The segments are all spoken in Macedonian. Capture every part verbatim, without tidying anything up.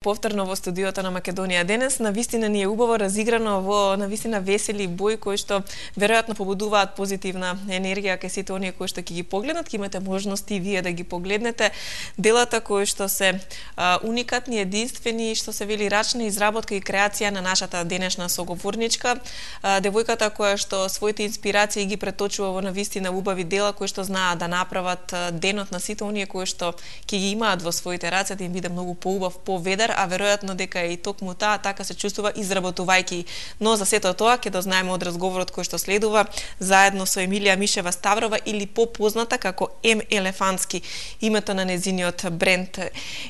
повторно во студиото на Македонија денес. Навистина ни е убаво разиграно во навистина весели бои кои што веројатно побудуваат позитивна енергија кај сите оние кои што ќе ги погледнат, ќе имате можности вие да ги погледнете делата кои што се а, уникатни, единствени, што се вели рачна изработка и креација на нашата денешна соговорничка, а, девојката која што своите инспирации ги преточува во навистина убави дела кои што знаат да направат денот на сите оние кои што ќе ги имаат во своите раце да им биде многу поубав, поведар, а веројатно дека и токму таа така се чувствува изработувајќи. Но за сето тоа ќе дознаеме од разговорот кој што следува заедно со Емилија Мишева Ставрова или попозната како Ем Елефантски, името на незиниот бренд.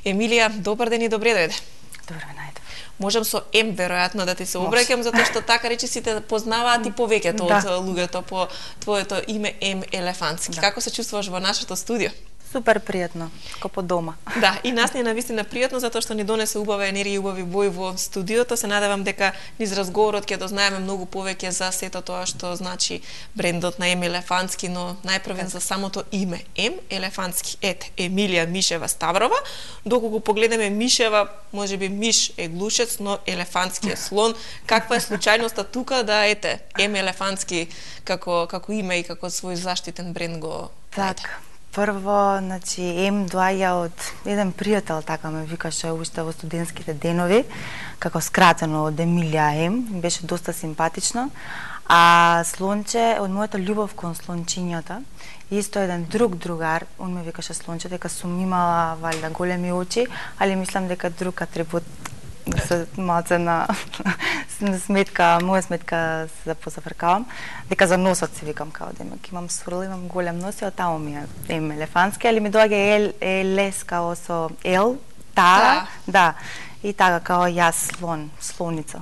Емилија, добар ден и добре дојде. Добро ве најдов. Можам со Ем веројатно да ти се обраќам затоа што така речи сите познаваат и повеќето да. од луѓето по твоето име Ем Елефантски. Да. Како се чувствуваш во нашето студио? Супер пријатно, како по дома. Да, и нас ни е навистина пријатно затоа што ни донесе убава енергија и убави бои во студиото. Се надевам дека низ разговорот ќе дознаеме многу повеќе за сето тоа што значи брендот на Ем Елефантски, но најпрвен за самото име Ем Елефантски. Ете, Емилија Мишева Ставрова. Доколку погледнеме Мишева, можеби миш е глушец, но Елефантски е слон. Каква е случајноста тука да ете Ем Елефантски како како име и како свој заштитен бренд го така. Прво, значи, Ем доаѓа од еден пријател, така ме викаше уште во студентските денови, како скратено од Емилија Ем, беше доста симпатично. А Слонче, од мојата љубов кон слончињата, исто еден друг другар, он ме викаше Слонче, дека сум имала, валјда, големи очи, али мислам дека друг атрибут да се малце на, на сметка, моја сметка се да позафркавам, дека за носот се викам као демек имам сврл, имам голем нос и таму ми е Ем Елефантски, али ми доаѓа ел, елес као со ел, таа, да, и така као јас слон, слоница.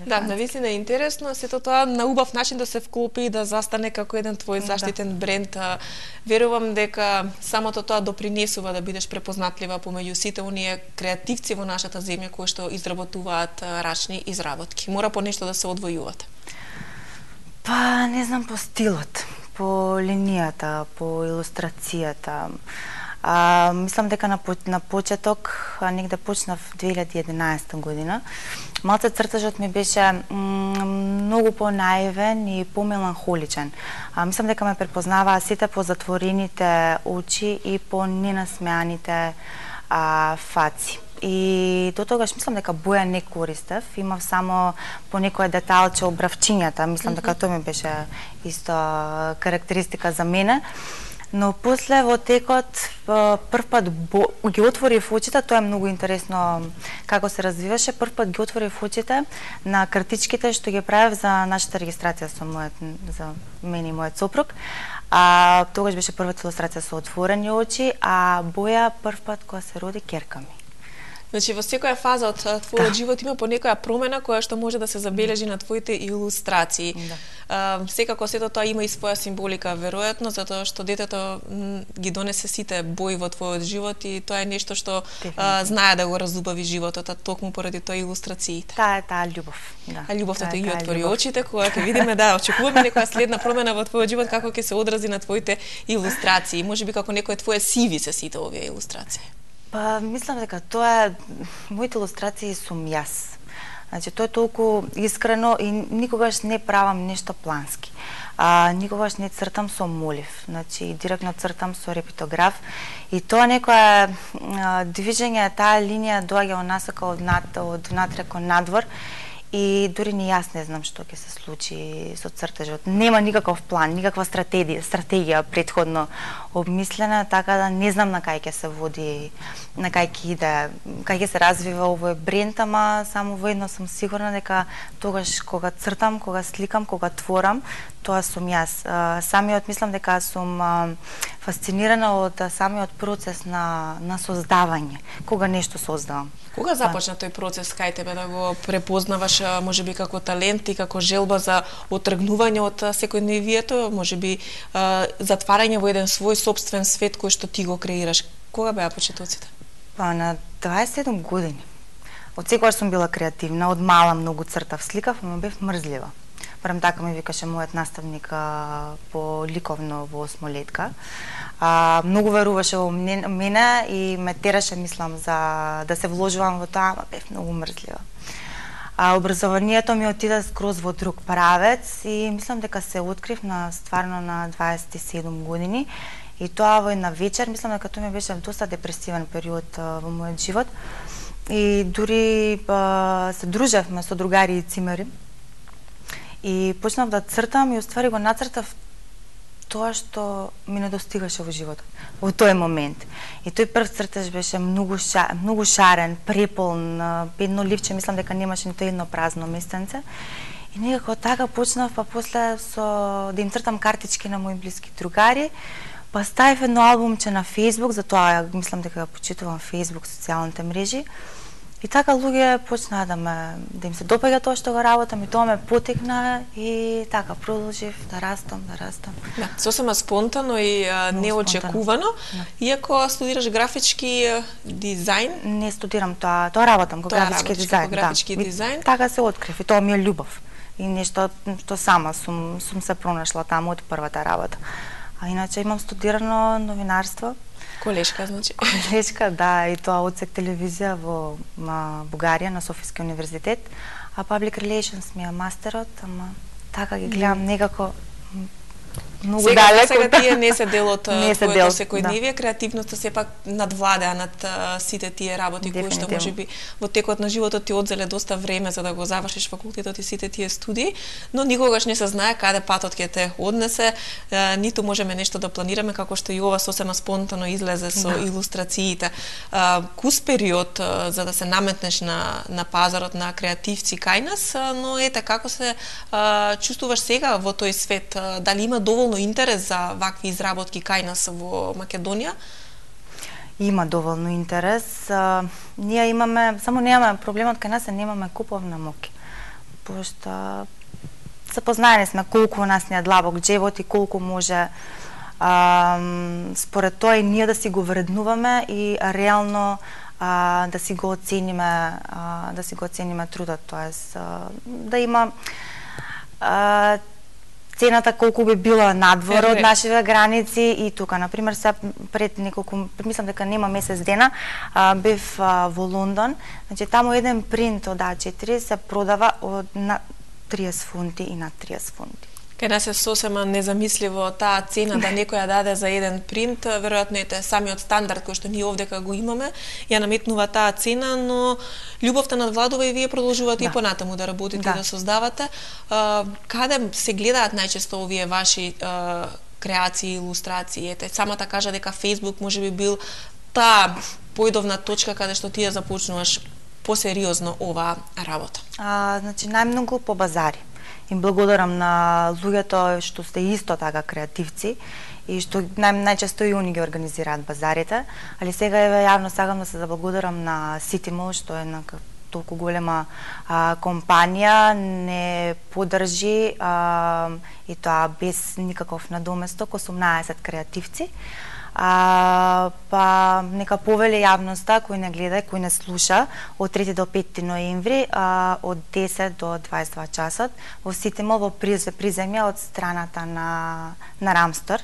Да, навистина е интересно, сето тоа на убав начин да се вклопи и да застане како еден твој заштитен да. бренд. Верувам дека самото тоа допринесува да бидеш препознатлива помеѓу сите оние креативци во нашата земја кои што изработуваат рачни изработки. Мора по нешто да се одвојувате. Па, не знам, по стилот, по линијата, по илустрацијата. А, мислам дека на, на почеток, негде почнав две илјади и единаесета година, малце цртажот ми беше многу по-наивен и по-меланхоличен. А, мислам дека ме препознаваа сите по затворените очи и по ненасмеаните а, фаци. И до тогаш мислам дека боја не користев, имав само по некоја деталче обравчињата, мислам mm -hmm. дека тоа ми беше исто карактеристика за мене. Но после во текот прв пат бо, ги отворив очите, тоа е многу интересно како се развиваше, прв пат ги отворив очите на картичките што ги правев за нашата регистрација со мојот, за мене и мојот сопруг. А тогаш беше првата илустрација со отворени очи, а боја прв пат кога се роди ќерка ми. Значи, во секоја фаза од твојот да. живот има по некоја промена која што може да се забележи на твоите илустрации. Да. А, секако сето тоа има и своја символика, веројатно, затоа што детето ги донесе сите бои во твојот живот и тоа е нешто што а, знае да го разубави животот, а токму поради тоа илустрациите. Таа е таа љубов. Да. А љубовта ти ги отвори очите, кога ќе видиме, да, очекуваме некоја следна промена во твојот живот, како ќе се одрази на твоите илустрации. Можеби како некој твое сиви се сите овие илустрации. Па, мислам дека тоа е, моите илустрации сум јас. Значи, тоа е толку искрено и никогаш не правам нешто плански. А, никогаш не цртам со молив. Значи, директно цртам со репитограф. И тоа некоја движење, таа линија доаѓа онасака од, над, од внатре кон надвор. И дури ни јас не знам што ќе се случи со цртежот. Нема никаков план, никаква стратегија, стратегија претходно обмислена, така да не знам на кај ќе се води, на кај ќе иде, кај ќе се развива овој бренд, ама само во едно сум сигурна дека тогаш кога цртам, кога сликам, кога творам, тоа сум јас. Самиот мислам дека сум фасцинирана од самиот процес на на создавање, кога нешто создавам. Кога започна тој процес кај тебе да го препознаваш можеби како талент и како желба за отргнување од секојдневието, можеби затварање во еден свој сопствен свет кој што ти го креираш? Кога беа почетоците? Па на дваесет и седум години. Од секогаш сум била креативна, од мала многу цртав, сликав, ама бев мрзлива. барем така ми викаше мојот наставник а, по ликовно во осмолетка. А, многу веруваше во мене и ме тераше, мислам, за да се вложувам во тоа, ама бев многу мрзлива. А образованието ми отида скроз во друг правец и мислам дека се открив на стварно на дваесет и седум години и тоа во една вечер, мислам дека тоа ми беше доста депресивен период а, во мојот живот и дури а, се дружевме со другари и цимери и почнав да цртам и уствари го нацртав тоа што ми недостигаше во животот во тој момент. И тој прв цртеж беше многу ша, многу шарен, преполн, едно ливче, мислам дека немаше нито едно празно местенце. И некако така почнав, па после со да им цртам картички на мои блиски другари, па ставив едно албумче на Facebook, затоа мислам дека го почитувам Facebook, социјалните мрежи. И така луѓе почнаа да ме да им се допаѓа тоа што го работам и тоа ме потекна и така продолжив да растам, да растам. Да, сосема спонтано и а, неочекувано. Да. Иако студираш графички дизајн, не студирам тоа, тоа работам како графички дизајн, графички да. дизајн. И така се открив и тоа ми е љубов. И нешто што сама сум сум се пронашла таму од првата работа. А иначе имам студирано новинарство. Колешка, значи. Колешка, да, и тоа одсек телевизија во на Бугарија, на Софиски универзитет, а Public Relations ми е мастерот, ама така ги гледам некако многу сега, далеко. Сега тие не се дел од твоето секојдневие, да. Креативноста сепак надвладеа над uh, сите тие работи кои што можеби во текот на животот ти одзеле доста време за да го завршиш факултетот и сите тие студии, но никогаш не се знае каде патот ќе те однесе, uh, ниту можеме нешто да планираме како што и ова сосема спонтано излезе со да. Илустрациите. Uh, кус период uh, за да се наметнеш на на пазарот на креативци кај нас, uh, но ете како се uh, чувствуваш сега во тој свет, uh, дали има доволно интерес за вакви изработки кај нас во Македонија? Има доволно интерес. А, ние имаме, само немаме проблемот кај нас е немаме куповна моќ. Пошто се познаени сме колку у нас не е длабок џебот и колку може а, според тоа и ние да си го вреднуваме и реално а, да си го оцениме, а, да си го оцениме трудот, тоест а, да има а, цената колку би била надвор од нашите граници и тука, например, се пред неколку, мислам дека нема месец дена, а, бев а, во Лондон, значи таму еден принт од А четири се продава од на триесет фунти и на триесет фунти. Кај нас е сосема незамисливо таа цена да некој ја даде за еден принт, веројатно ете самиот стандард кој што ние овдека го имаме, ја наметнува таа цена, но љубовта надвладува и вие продолжувате да. И понатаму да работите да. И да создавате. А, каде се гледаат најчесто овие ваши а, креации, илустрации? Ете, самата кажа дека Facebook можеби бил таа појдовна точка каде што ти ја започнуваш посериозно оваа работа. А, значи најмногу по базари. Им благодарам на луѓето што сте исто така креативци и што нај, најчесто и они ги организираат базарите, али сега еве јавно сакам да се заблагодарам на City Mall што е една толку голема а, компанија, не поддржи а, и тоа без никаков надоместок осумнаесет креативци. А, па нека повеле јавноста кој не гледа, кој не слуша од трети до пети ноември а, од десет до дваесет и два часот во City Mall во приземја од страната на на Рамстор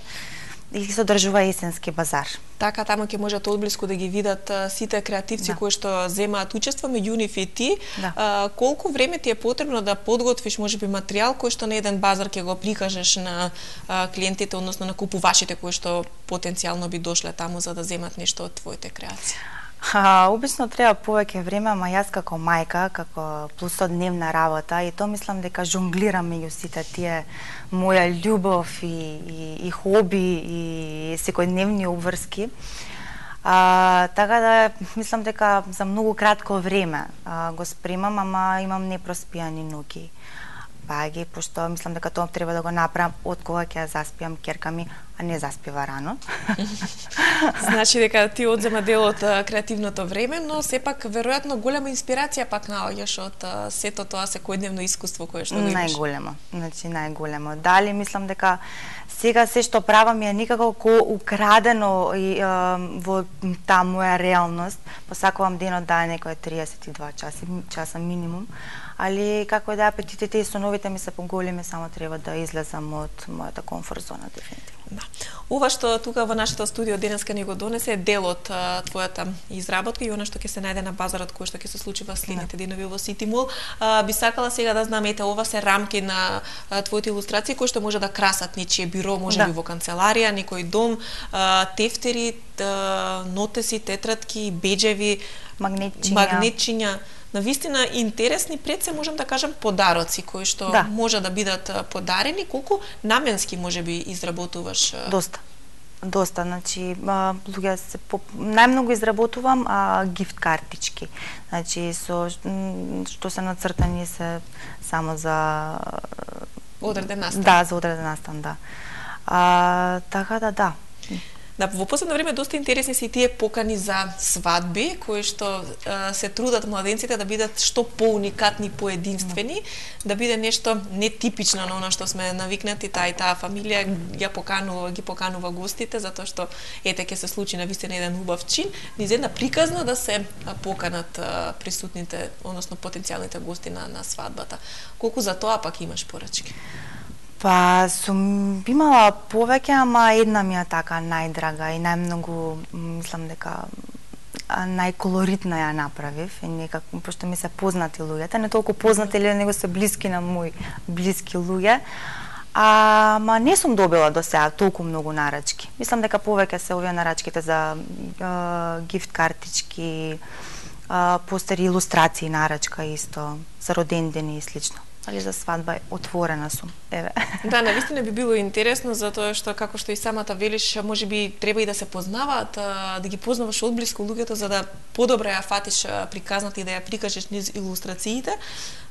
и се одржува есенски базар. Така, таму ќе можат одблиску да ги видат а, сите креативци да. Кои што земаат учество, меѓу нив и ти. Да. А, колку време ти е потребно да подготвиш можеби материјал кој што на еден базар ќе го прикажеш на а, клиентите, односно на купувачите кои што потенцијално би дошле таму за да земат нешто од твоите креации? А, обично треба повеќе време, ама јас како мајка, како плусодневна работа, и то мислам дека жонглирам меѓу сите тие моја љубов и, и, и хоби и секојдневни обврски. А, така да мислам дека за многу кратко време а, го спремам, ама имам непроспијани ноќи. Баги, пошто мислам дека тоа треба да го направам од кога ќе заспиам ќерка ми, а не заспива рано. Значи дека ти одзема дел од креативното време, но сепак веројатно голема инспирација пак наоѓаш од сето тоа секојдневно искуство кое што го имаш. Најголемо, значи најголемо. Дали мислам дека сега се што правам е никако ко украдено и, е, во таа моја реалност. Посакувам денот да е некој триесет и два часа, часа минимум, али како да апетитите и соновите ми се поголеми, само треба да излезам од мојата комфорт зона дефинитивно. Да. Ова што тука во нашето студио денеска ни го донесе е дел од а, твојата изработка и она што ќе се најде на базарот кој што ќе се случи во следните денови во Сити Мол. А, би сакала сега да знам, ете, ова се рамки на а, твоите илустрации кои што може да красат нечие биро, може да. би во канцеларија, некој дом, а, тефтери, а, нотеси, тетратки, беџеви, магнетчиња. магнетчиња. Навистина интересни пред се можам да кажам подароци кои што да. може да бидат подарени. Колку наменски можеби изработуваш? Доста. Доста, значи луѓе се по... најмногу изработувам а, гифт картички. Значи со што се нацртани се само за одреден настан. Да, за одреден настан, да. А, така да, да. Да, во последно време доста интересни се и тие покани за свадби, кои што а, се трудат младенците да бидат што поуникатни, поединствени, mm. да биде нешто нетипично на оно што сме навикнати, таа и таа фамилија ја поканува, ги поканува гостите, затоа што ете ќе се случи навистина еден убав чин, низ една приказна да се поканат а, присутните, односно потенцијалните гости на, на свадбата. Колку за тоа пак имаш порачки? Па, сум имала повеќе, ама една ми е така најдрага и најмногу, мислам дека најколоритна ја направив, и некако, пошто ми се познати луѓето, не толку познати, или него се блиски на мои блиски луѓе, а, ма не сум добила до сега толку многу нарачки. Мислам дека повеќе се овие нарачките за е, гифт картички, е, постери, илустрации, нарачка исто, за родендени и слично. Али за свадба отворена сум. Еве. Да, навистина би било интересно, затоа што како што и самата велиш, можеби треба и да се познаваат, да ги познаваш одблиску луѓето за да подобро ја фатиш приказната и да ја прикажеш низ илустрациите,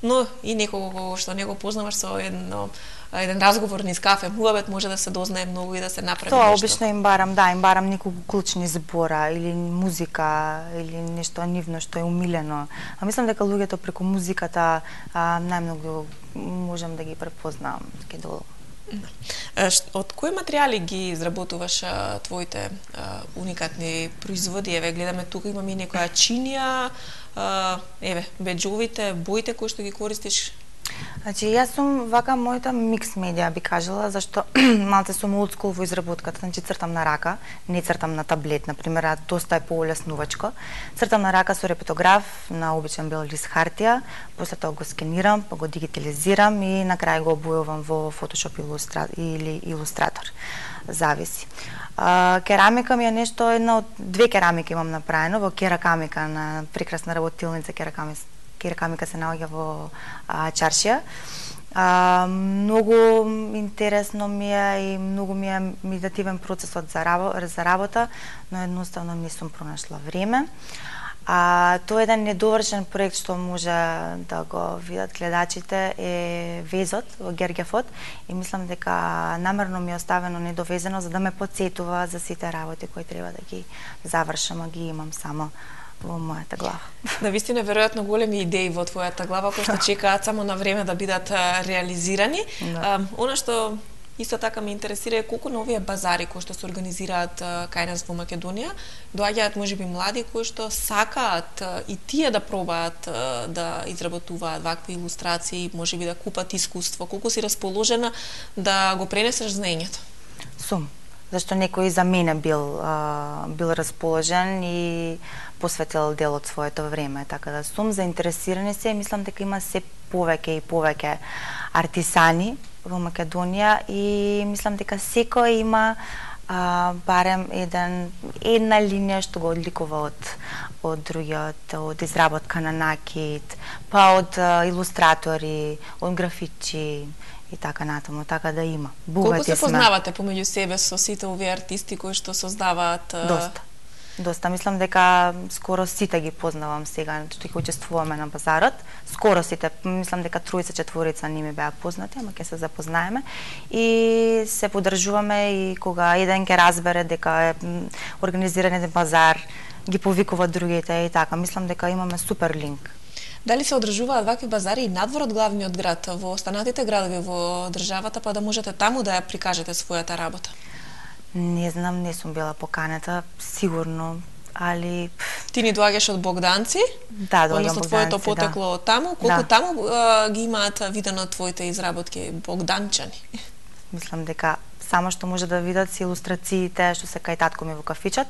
но и некого што не го познаваш со едно еден разговор низ кафе, муабет може да се дознае многу и да се направи Тоа нешто. Тоа обично им барам, да, им барам неколку клучни збора или музика или нешто нивно што е умилено. А мислам дека луѓето преку музиката а, најмногу можам да ги препознавам ке долу. Од кои материјали ги изработуваш а, твоите а, уникатни производи? Еве, гледаме тука имаме и некоја чинија, а, еве, беџовите, боите кои што ги користиш. Значи, јас сум вака мојата микс медија би кажала, зашто малце сум old school во изработката, значи цртам на рака, не цртам на таблет, например, а доста е поулеснувачко. Цртам на рака со репетограф на обичен бел лист хартија, после тоа го скенирам, па го дигитализирам и на крај го обојувам во Photoshop илустра... или илустратор. Зависи. А, керамика ми е нешто, една од две керамики имам направено во Керакамика, на прекрасна работилница Керакамика. Керамика се наоѓа во а, Чаршија. А, многу интересно ми е и многу ми е медитативен процесот за, рабо, за работа, но едноставно не сум пронашла време. А, тоа е еден недовршен проект што може да го видат гледачите е везот во Гергефот и мислам дека намерно ми е оставено недовезено за да ме потсетува за сите работи кои треба да ги завршам, а ги имам само во мојата глава. Навистина, веројатно големи идеи во твојата глава кои што чекаат само на време да бидат реализирани. Да. Она што исто така ме интересира е колку на овие базари кои што се организираат кај нас во Македонија доаѓаат можеби млади кои што сакаат и тие да пробаат да изработуваат вакви илустрации, можеби да купат искуство. Колку си расположена да го пренесеш знаењето? Сум. Зашто некој за мене бил а, бил расположен и посветил дел од своето време, така да сум заинтересирани се и мислам дека има се повеќе и повеќе артисани во Македонија и мислам дека секој има а, барем еден една линија што го одликува од од другиот, од изработка на накид, па од а, илустратори, од графичи и така натаму, така да има. Колку се познавате помеѓу себе со сите овие артисти кои што создаваат? Доста. Доста, мислам дека скоро сите ги познавам сега, што ќе учествуваме на базарот. Скоро сите, мислам дека тројца четворица не ми беа познати, ама ќе се запознаеме и се подржуваме и кога еден ќе разбере дека е организиран еден базар, ги повикува другите и така. Мислам дека имаме супер линк. Дали се одржуваат вакви базари и надвор од главниот град, во останатите градови во државата, па да можете таму да ја прикажете својата работа? Не знам, не сум била поканета, сигурно, али... Ти ни доаѓаш од Богданци? Да, доаѓам Односно, Богданци, твоето потекло да. од таму. Колку да. таму а, ги имаат видено твоите изработки богданчани? Мислам дека само што може да видат се илустрациите што се кај татко ми во кафичот.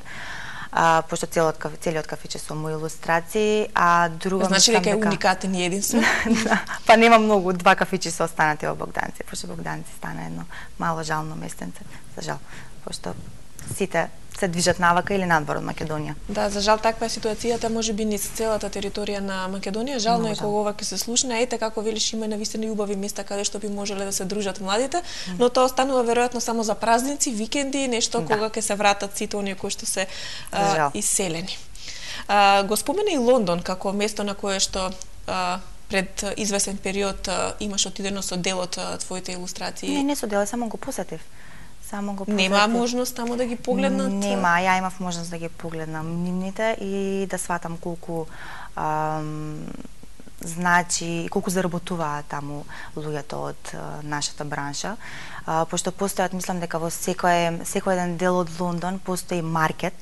А, пошто целиот, целиот кафиче со мои илустрации, а друго значи дека е дека... уникатен и единствен? да, па нема многу, два кафичи се останати во Богданци, пошто Богданци стана едно мало жално местенце, за жал, пошто сите се движат навака или надвор од Македонија. Да, за жал таква е ситуацијата, можеби низ целата територија на Македонија. Жално е кога ова ќе се слушне, ете како велиш има навистина и убави места каде што би можеле да се дружат младите, mm. но тоа останува веројатно само за празници, викенди, нешто да. Кога ќе се вратат сите оние кои што се а, иселени. А, го спомена и Лондон како место на кое што а, пред извесен период а, имаш отидено со дел од твоите илустрации. Не, не со дел, само го посетив. Само го Нема можност таму да ги погледнат? Нема, ја имав можност да ги погледнам нивните и да сватам колку ам, значи, колку заработуваат таму луѓето од а, нашата бранша. А, пошто постојат, мислам дека во секој, секој еден дел од Лондон постои маркет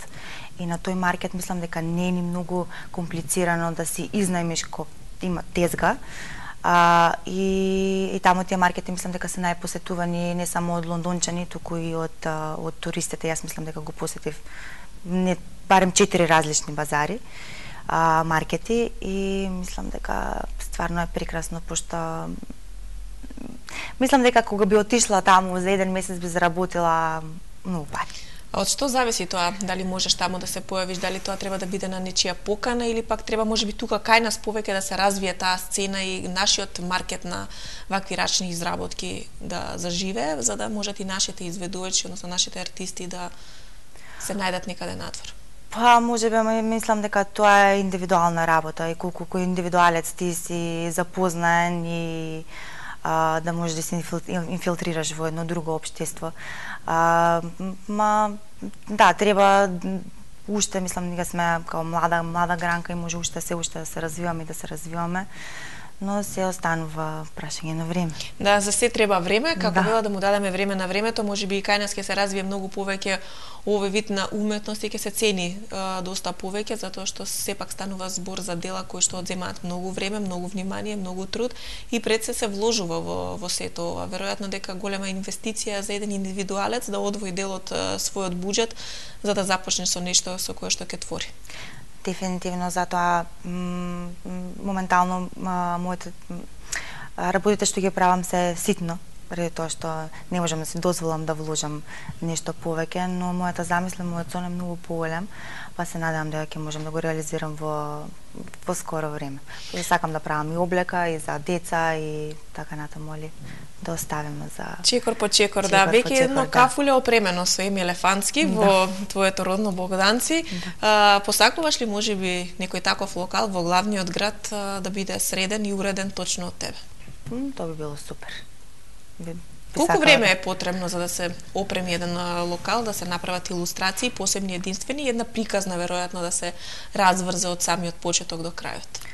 и на тој маркет мислам дека не е ни многу комплицирано да си изнајмиш ко има тезга. А, и, и таму тие маркети мислам дека се најпосетувани не само од лондончани, туку и од, од туристите. Јас мислам дека го посетив не, барем четири различни базари, а, маркети и мислам дека стварно е прекрасно, пошто мислам дека кога би отишла таму за еден месец би заработила многу пари. А од што зависи тоа? Дали можеш таму да се појавиш, дали тоа треба да биде на нечија покана или пак треба можеби тука кај нас повеќе да се развие таа сцена и нашиот маркет на вакви рачни изработки да заживее, за да можат и нашите изведувачи, односно нашите артисти да се најдат некаде надвор? Па, можеби мислам дека тоа е индивидуална работа и колку кој индивидуалец ти си запознаен и а, да можеш да се инфилтрираш во едно друго општество. А, ма, да, треба уште, мислам, дека сме као млада, млада гранка и може уште се уште да се развиваме и да се развиваме, но се останува прашање на време. Да, за се треба време, како да. вела да му дадеме време на времето, можеби и кај нас ќе се развие многу повеќе овој вид на уметност и ќе се цени а, доста повеќе, затоа што сепак станува збор за дела кои што одземаат многу време, многу внимание, многу труд и пред се се вложува во, во сето ова. Веројатно дека голема инвестиција за еден индивидуалец да одвои дел од својот буџет за да започне со нешто со кое што ќе твори. Дефинитивно, затоа моментално моите работите што ги правам се ситно, преди тоа што не можам да си дозволам да вложам нешто повеќе, но мојата замисла, мојот сон е многу поголем, па се надевам дека ќе можам да го реализирам во во скоро време. Ја сакам да правам и облека и за деца и така натаму, али да оставиме за чекор по чекор, чекор да, веќе едно да. Кафуле опремено со Еми Елефантски да. Во твоето родно Богданци. Да. А, посакуваш ли можеби некој таков локал во главниот град а, да биде среден и уреден точно од тебе? М, тоа би било супер. Би Колку време е потребно за да се опреми еден локал, да се направат илустрации, посебни, единствени и една приказна веројатно да се разврзе од самиот почеток до крајот?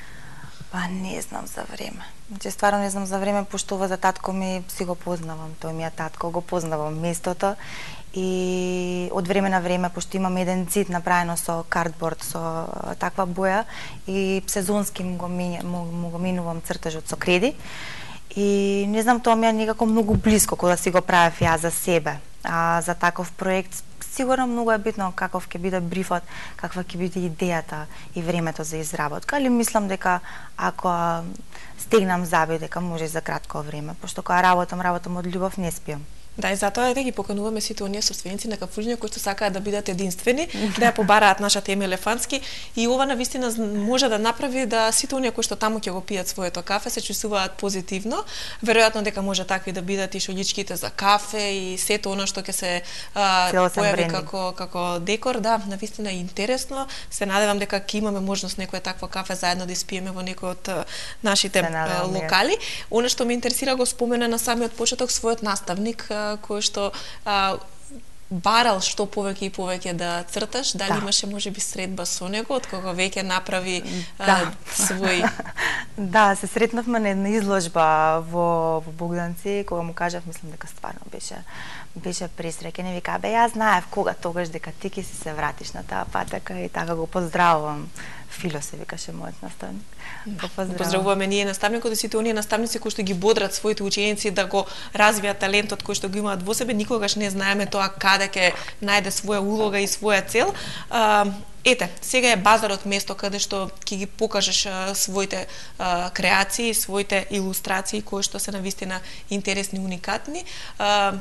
Па не знам за време. Значи стварно не знам за време, пошто ова за татко ми си го познавам, тој ми е татко, го познавам местото и од време на време, пошто имам еден цид направено со картборд, со таква боја и сезонски му го, му, му го минувам цртежот со креди. И не знам, тоа ми е некако многу блиско кога да си го правев ја за себе. А за таков проект сигурно многу е битно каков ќе биде брифот, каква ќе биде идејата и времето за изработка, али мислам дека ако стегнам заби дека може за кратко време, пошто кога работам, работам од љубов, не спиам. Да, и затоа да ги покануваме сите оние собственици на кафулиња кои што сакаат да бидат единствени, да ја побараат нашата Еми Елефантски, и ова навистина може да направи да сите оние кои што таму ќе го пијат своето кафе се чувствуваат позитивно. Веројатно дека може такви да бидат и шоличките за кафе и сето она што ќе се а, појави како како декор, да, навистина е интересно. Се надевам дека ќе имаме можност некое такво кафе заедно да испиеме во некој од нашите локали. Она што ме интересира, го спомена на самиот почеток својот наставник кој што а, барал што повеќе и повеќе да црташ, дали да. Имаше можеби средба со него од кога веќе направи да. а, свој... Да, се сретнавме на една изложба во, во Богданци, кога му кажав, мислам дека стварно беше беше пресреќен и вика, бе, јас знаев кога тогаш дека ти ќе си се вратиш на таа патека и така го поздравувам. Фило се викаше мојот наставник. Да, поздравуваме ние наставникот и сите оние наставници кои што ги бодрат своите ученици да го развијат талентот кој што го имаат во себе. Никогаш не знаеме тоа каде ќе најде своја улога и своја цел. А, ете, сега е базарот место каде што ќе ги покажеш а, своите а, креации, своите илустрации кои што се навистина интересни, уникатни. А,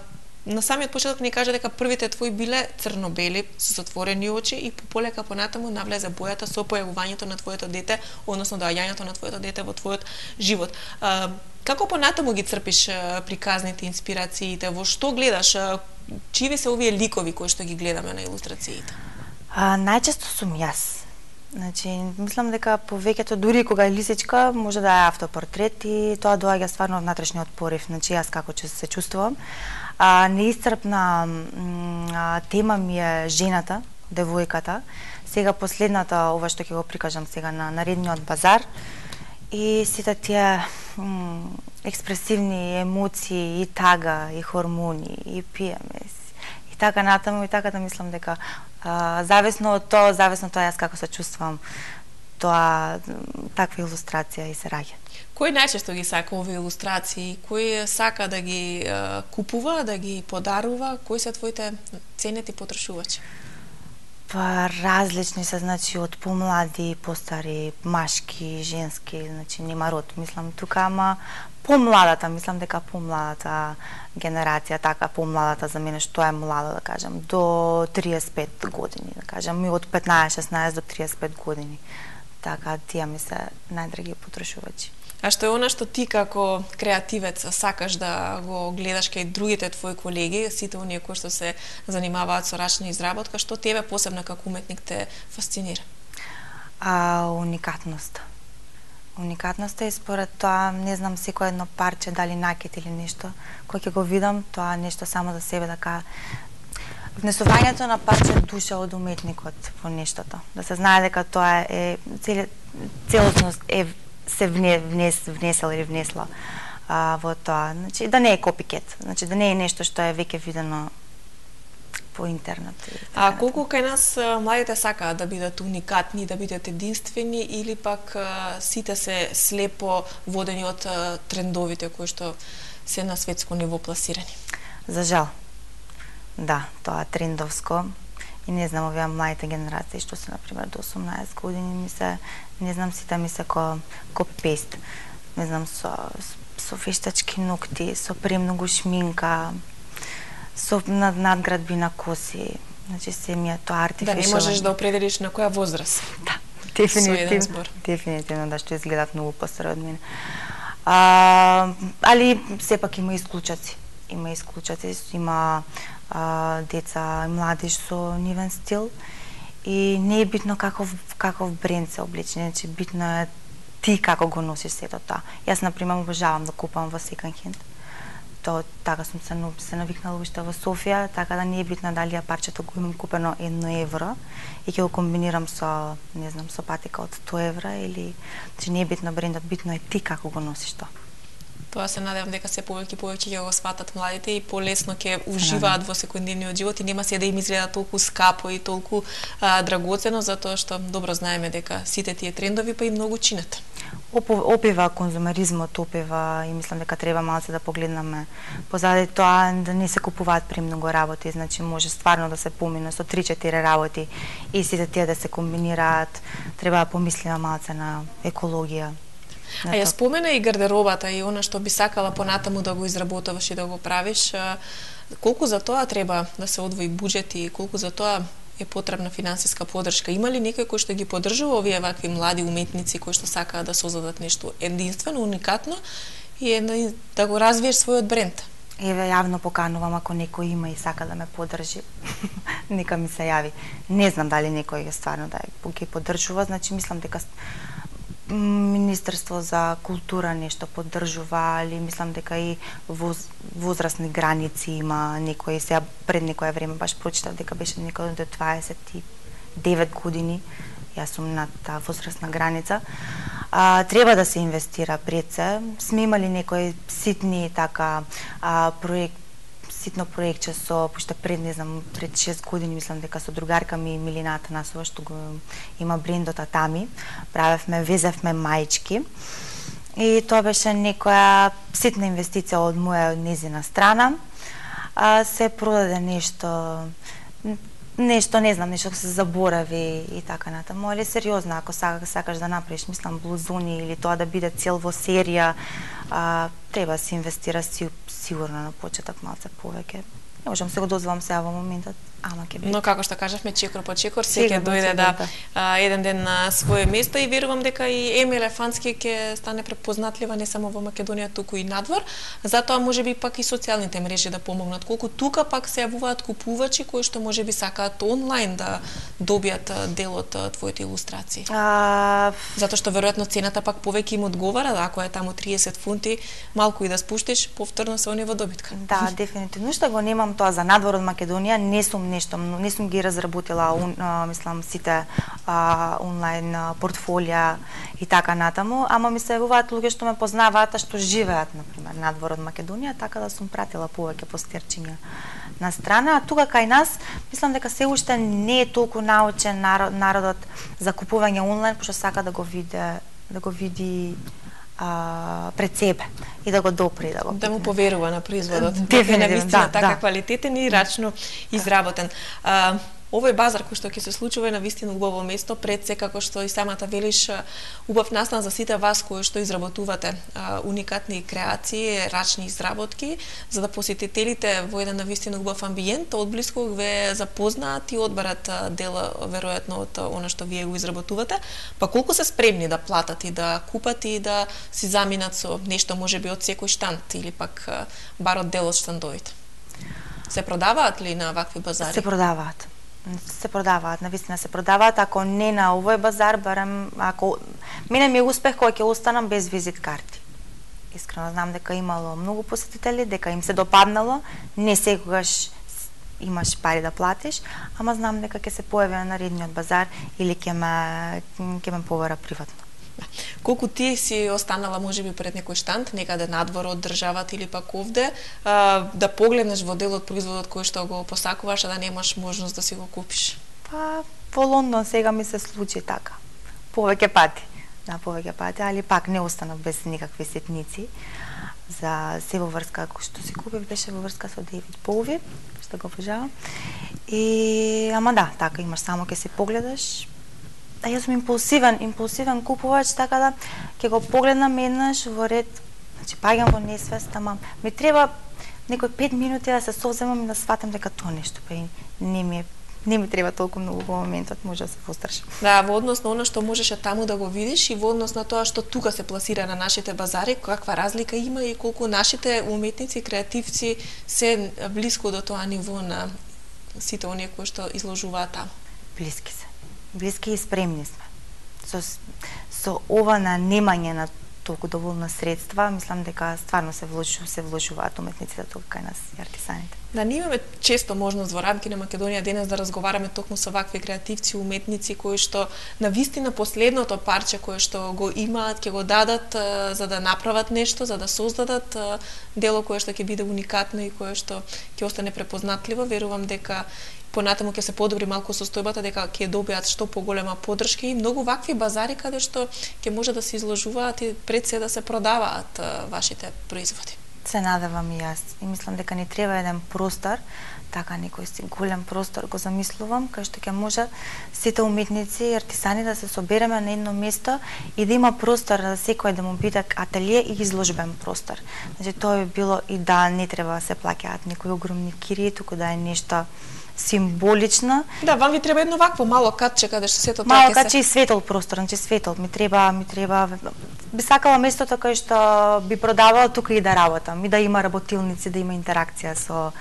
На самиот почеток ни кажа дека првите твои биле црно-бели со затворени очи и полека понатаму навлезе бојата со појавувањето на твоето дете, односно доаѓањето на твоето дете во твојот живот. А, како понатаму ги црпиш а, приказните, инспирациите, во што гледаш, а, чиви се овие ликови кои што ги гледаме на илустрациите? А, најчесто сум јас. Значи, мислам дека повеќето, дури кога е лисичка, може да е автопортрет и тоа доаѓа стварно од внатрешниот порив, значи јас како че се чувствувам. А, неисцрпна а, тема ми е жената, девојката. Сега последната, ова што ќе го прикажам сега на наредниот базар, и сите тие м, експресивни емоции, и тага, и хормони, и пиеме, и така натаму, и така да мислам дека а, зависно од тоа, зависно тоа јас како се чувствувам, тоа таква илустрација и се раѓа. Кој најчесто ги сака овие илустрации? Кој сака да ги е, купува, да ги подарува? Кои се твоите ценети потрошувачи? Па различни се, значи од помлади, постари, машки, женски, значи нема род. Мислам тука, ама помладата, мислам дека помладата генерација, така помладата за мене што е млада, да кажам, до триесет и пет години, да кажам, и од петнаесет шеснаесет до триесет и пет години. Така, тие ми се најдраги потрошувачи. А што е она што ти како креативец сакаш да го гледаш кај другите твои колеги, сите оние кои што се занимаваат со рачна изработка, што тебе посебно како уметник те фасцинира? А, уникатноста. Уникатноста и според тоа, не знам, секој едно парче, дали накет или нешто, кој ќе го видам, тоа нешто само за себе да кажа. Внесувањето на парче душа од уметникот во нештото. Да се знае дека тоа е целосност е се вне, внес, внесел или внесла а, во тоа. Значи, да не е копикет. Значи, да не е нешто што е веќе видено по интернет. А колку кај нас младите сакаат да бидат уникатни, да бидат единствени, или пак а, сите се слепо водени од а, трендовите кои што се на светско ниво пласирани? За жал. Да, тоа трендовско. И не знам, овие младите генерации што се, например, до осумнаесет години, ми се, не знам, сите ми се ко копи-пейст. Не знам, со, со вештачки ногти, со премногу шминка, со над, надградби на коси. Значи, се ми е тоа артифишално. Да, не можеш да определиш на која возраст. Да, дефинитивно. Дефинитивно, да, што изгледат многу постари од мене. А, али, сепак има исклучаци. Има исклучаци, има а, деца и младиш со нивен стил и не е битно каков, каков бренд се облече, значи битно е ти како го носиш сето тоа. Јас, например, обожавам да купам во second hand. Тоа така сум се, се навикнала уште во Софија, така да не е битно дали ја парчето го имам купено едно евро и ќе го комбинирам со, не знам, со патика од сто евра или, значи не е битно брендот, битно е ти како го носиш тоа. Тоа се надевам дека се повеќе и повеќе ќе го сватат младите и полесно ќе уживаат во секојдневниот живот и нема се да им изгледа толку скапо и толку а, драгоцено, затоа што добро знаеме дека сите тие трендови па и многу чинат. Опива конзумеризмот, опива и мислам дека треба малце да погледнеме позади тоа да не се купуваат премногу работи, значи може стварно да се помине со три-четири работи и сите тие да се комбинираат, треба да помислиме малце на екологија. А ја спомена и гардеробата и она што би сакала понатаму да го изработуваш и да го правиш. Колку за тоа треба да се одвои буџет и колку за тоа е потребна финансиска поддршка? Има ли некој кој што ги поддржува овие вакви млади уметници кои што сакаат да создадат нешто единствено, уникатно и да го развиеш својот бренд? Еве, јавно поканувам ако некој има и сака да ме поддржи, нека ми се јави. Не знам дали некој е стварно да ги поддржува, значи мислам дека Министерство за култура нешто поддржува, али мислам дека и воз, возрастни граници има некој, сега пред некое време баш прочитав дека беше некој до дваесет и девет години, јас сум на таа возрастна граница. А, треба да се инвестира пред се. Сме имали некои ситни така а, проект, ситно проектче со, пошто пред, не знам, пред шест години, мислам дека со другарка ми Милина Атанасова, што го има брендот Атами, правевме, везевме маички. И тоа беше некоја ситна инвестиција од моја, од незина страна. А, се продаде нешто, нешто, не знам, нешто се заборави и така натаму, али сериозно, ако сакаш, сакаш да направиш, мислам, блузуни или тоа да биде цел во серија, а, треба да се инвестира си, сигурно на почеток малце повеќе. Не можам се го дозволам сега во моментот, ама ќе биде. Но како што кажавме, чекор по чекор, се ќе дојде да а, еден ден на свое место и верувам дека и Еми Елефантски ќе стане препознатлива не само во Македонија, туку и надвор. Затоа можеби пак и социјалните мрежи да помогнат. Колку тука пак се јавуваат купувачи кои што можеби сакаат онлайн да добијат дел од твоите илустрации. А... Затоа што веројатно цената пак повеќе им одговара, ако е таму триесет фунти, малку и да спуштиш, повторно се они во добитка. Да, дефинитивно што го немам тоа за надвор од Македонија, не сум нешто, не сум ги разработила, он, а, мислам, сите а, онлайн а, портфолија и така натаму, ама ми се јавуваат луѓе што ме познаваат, а што живеат, например, надвор од Македонија, така да сум пратила повеќе постерчиња на страна, а тука кај нас, мислам дека се уште не е толку научен народ, народот за купување онлайн, пошто сака да го види, да го види а, пред себе и да го допре, да го да му поверува на производот. Дефинитивно, да, така да. Квалитетен и рачно изработен. А, овој базар кој што ќе се случува е навистина убаво место, пред се како што и самата велиш, убав настан за сите вас кои што изработувате а, уникатни креации, рачни изработки, за да посетителите во еден навистина убав амбиент одблиску ве запознаат и одберат дела веројатно од она што вие го изработувате, па колку се спремни да платат и да купат и да си заминат со нешто можеби од секој штанд или пак бар од дел од штандовите. Се продаваат ли на вакви базари? Се продаваат. Се продаваат, навистина се продаваат, ако не на овој базар, барем ако мене ми е успех кога ќе останам без визит карти. Искрено знам дека имало многу посетители, дека им се допаднало, не секогаш имаш пари да платиш, ама знам дека ќе се појави на наредниот базар или ќе ме ќе ме побара приватно. Колку ти си останала можеби пред некој штанд, некаде надвор од државата или пак овде, а, да погледнеш во дел од производот кој што го посакуваш, а да немаш можност да си го купиш? Па, во Лондон сега ми се случи така. Повеќе пати. Да, повеќе пати, али пак не останав без никакви ситници. За се во врска, кој што си купив, беше во врска со Дейвид Боуи, што го обожавам. И, ама да, така имаш, само ќе се погледаш. А јас сум импулсивен, импулсивен купувач, така да ќе го погледнам еднаш во ред, значи паѓам во несвест, ама ми треба некои пет минути да се совземам и да сватам дека тоа нешто па не ми е, не ми треба толку многу во моментот, може да се пострашам. Да, во однос на она што можеше таму да го видиш и во однос на тоа што тука се пласира на нашите базари, каква разлика има и колку нашите уметници, креативци се блиску до тоа ниво на сите оние кои што изложуваат таму. Блиски се. Блиски и спремни сме. Со, со ова на немање на толку доволно средства, мислам дека стварно се вложу, се вложуваат уметниците тука кај нас и артисаните. Да, ние имаме често можност во рамки на Македонија денес да разговараме токму со вакви креативци, уметници кои што навистина последното парче кое што го имаат, ќе го дадат а, за да направат нешто, за да создадат а, дело кое што ќе биде уникатно и кое што ќе остане препознатливо. Верувам дека понатаму ќе се подобри малку состојбата, дека ќе добијат што поголема поддршка и многу вакви базари каде што ќе може да се изложуваат и пред се да се продаваат а, вашите производи. Се надевам и јас. И мислам дека ни треба еден простор, така некој си голем простор го замислувам, кај што ќе може сите уметници и артисани да се собереме на едно место и да има простор за секој да му биде ателие и изложбен простор. Значи тоа би било и да не треба да се плаќаат некои огромни кирии, туку да е нешто символично. Да, вам ви треба едно вакво мало катче каде што сето тоа мало ќе катче се... и светол простор, значи светол ми треба, ми треба би сакала местото кај што би продавала тука и да работам, и да има работилници, да има интеракција со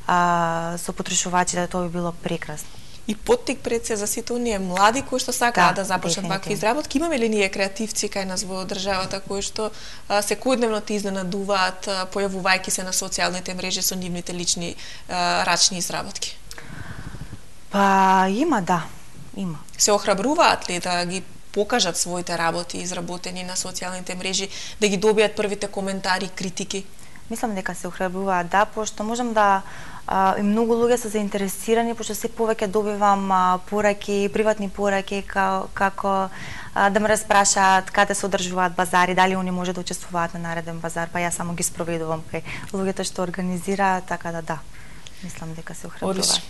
а, со потрошувачите, тоа би било прекрасно. И поттик пред се за сите оние млади кои што сакаат да, да започнат вакви изработки. Имаме ли ние креативци кај нас во државата кои што а, секојдневно те изненадуваат, а, појавувајќи се на социјалните мрежи со нивните лични а, рачни изработки? Па има, да, има. Се охрабруваат ли да ги покажат своите работи изработени на социјалните мрежи, да ги добијат првите коментари, критики? Мислам дека се охрабруваат, да, пошто можам да а, и многу луѓе се заинтересирани, пошто се повеќе добивам а, пораки, приватни пораки, ка, како а, да ме распрашаат каде се одржуваат базари, дали они може да учествуваат на нареден базар, па јас само ги спроведувам кај луѓето што организираат, така да да. Мислам дека се охрабруваат.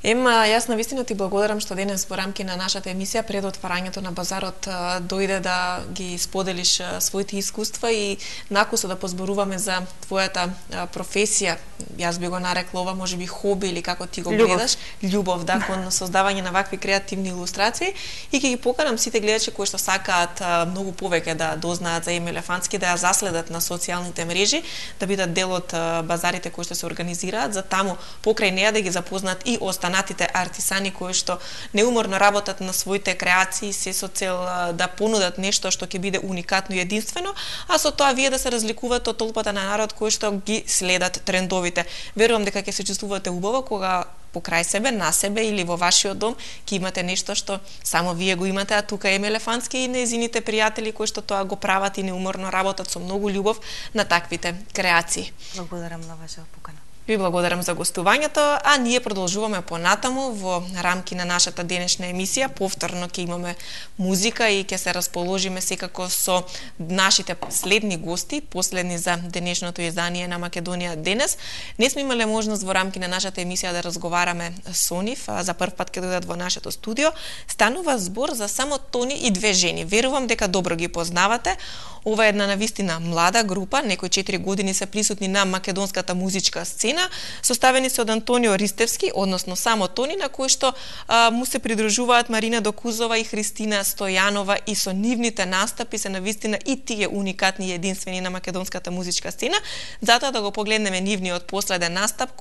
Ема, јас навистина ти благодарам што денес во рамки на нашата емисија пред отварањето на базарот дојде да ги споделиш своите искуства и накусо да позборуваме за твојата професија. Јас би го нарекла ова можеби хоби или како ти го гледаш, љубов, да, кон создавање на вакви креативни илустрации и ќе ги поканам сите гледачи кои што сакаат многу повеќе да дознаат за Еми Елефантски, да ја заследат на социјалните мрежи, да бидат дел од базарите кои што се организираат, за таму покрај неа да ги запознаат и останатите артисани кои што неуморно работат на своите креации се со цел да понудат нешто што ќе биде уникатно и единствено, а со тоа вие да се разликувате од толпата на народ кои што ги следат трендовите. Верувам дека ќе се чувствувате убаво кога покрај себе, на себе или во вашиот дом ќе имате нешто што само вие го имате, а тука Еми Елефантски и нејзините пријатели кои што тоа го прават и неуморно работат со многу љубов на таквите креации. Благодарам на вашата покана. Ви благодарам за гостувањето, а ние продолжуваме понатаму во рамки на нашата денешна емисија. Повторно ќе имаме музика и ќе се расположиме секако со нашите следни гости, последни за денешното издание на Македонија денес. Не сме имале можност во рамки на нашата емисија да разговараме со нив, а за прв пат ќе дојдат во нашето студио. Станува збор за само Тони и две жени. Верувам дека добро ги познавате. Ова е една навистина млада група, некои четири години се присутни на македонската музичка сцена, составени се од Антонио Ристевски, односно само Тони, на кој што а, му се придружуваат Марина Докузова и Христина Стојанова, и со нивните настапи се навистина и тие уникатни и единствени на македонската музичка сцена. Затоа да го погледнеме нивниот последен настап,